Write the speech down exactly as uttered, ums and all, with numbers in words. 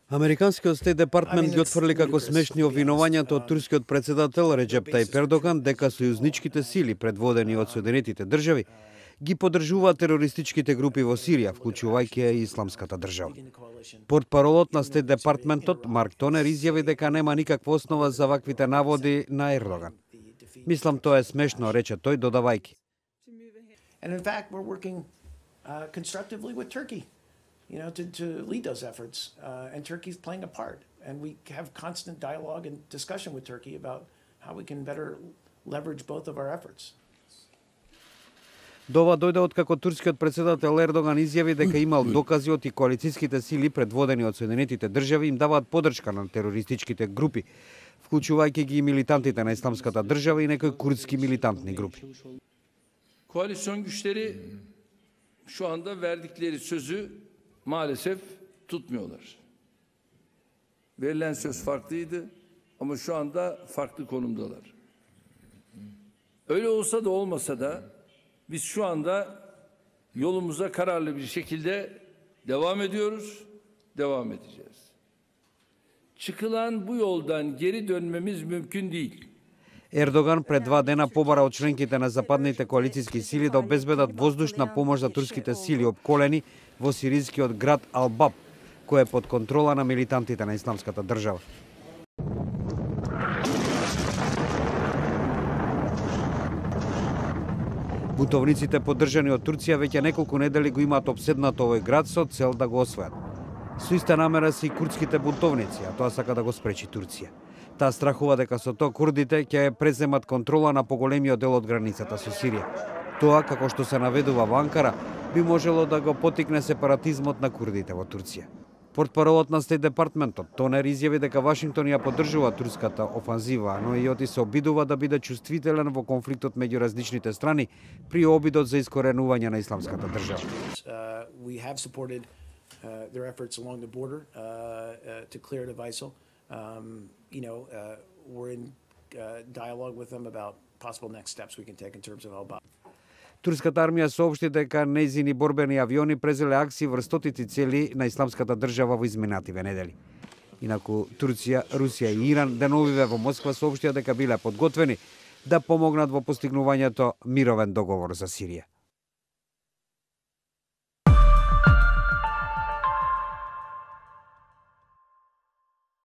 Американскиот Стейт департмент ги отфрли како смешни обвинувањата од турскиот председател Реджеп Тајип Ердоган дека сојузничките сили, предводени од Соединетите држави, ги поддржуваат терористичките групи во Сирија, вклучувајќи и Исламската држава. Портпаролот на Стейт департментот Марк Тонер изјави дека нема никаква основа за ваквите наводи на Ердоган. Мислам тоа е смешно, рече тој, додавајќи. And in fact, we're working uh, constructively with Turkey, you know, to, to lead those efforts. Uh, and Turkey's playing a part. And we have constant dialogue and discussion with Turkey about how we can better leverage both of our efforts. Дова дојде откако турскиот председател Ердоган изјави дека имал докази од и коалициските сили предводени од Соединетите држави им даваат поддршка на терористичките групи, вклучувајќи ги и милитантите на Исламската држава и некои курдски милитантни групи. Koalisyon güçleri şu anda verdikleri sözü maalesef tutmuyorlar. Verilen söz farklıydı ama şu anda farklı konumdalar. Öyle olsa da olmasa da biz şu anda yolumuza kararlı bir şekilde devam ediyoruz, devam edeceğiz. Çıkılan bu yoldan geri dönmemiz mümkün değil. Ердоган пред два дена побара од членките на западните коалициски сили да обезбедат воздушна помош за турските сили опколени во сирискиот град Ал-Баб, кој е под контрола на милитантите на Исламската држава. Бутовниците поддржани од Турција веќе неколку недели го имаат обседнато овој град со цел да го освојат. Со иста намера се и курдските бунтовници, а тоа сака да го спречи Турција. Таа страхува дека со тоа курдите ќе преземат контрола на поголемиот дел од границата со Сирија. Тоа, како што се наведува во Анкара, би можело да го потикне сепаратизмот на курдите во Турција. Портпаролот на Стейт департментот Тонер изјави дека Вашингтон ја поддржува турската офанзива, но и оти се обидува да биде чувствителен во конфликтот меѓу различните страни при обидот за искоренување на Исламската држава. Uh, their efforts along the border uh, uh, to clear it of ISIL. Um, you know, uh, we're in uh, dialogue with them about possible next steps we can take in terms of Al-Bab. Турската армија соопшти дека нејзини борбени авиони презеле акции врз стотици цели на Исламската држава во изминативе недели. Инаку Турција, Русија и Иран деновиве во Москва соопштија дека биле подготвени да помогнат во постигнувањето мировен договор за Сирија.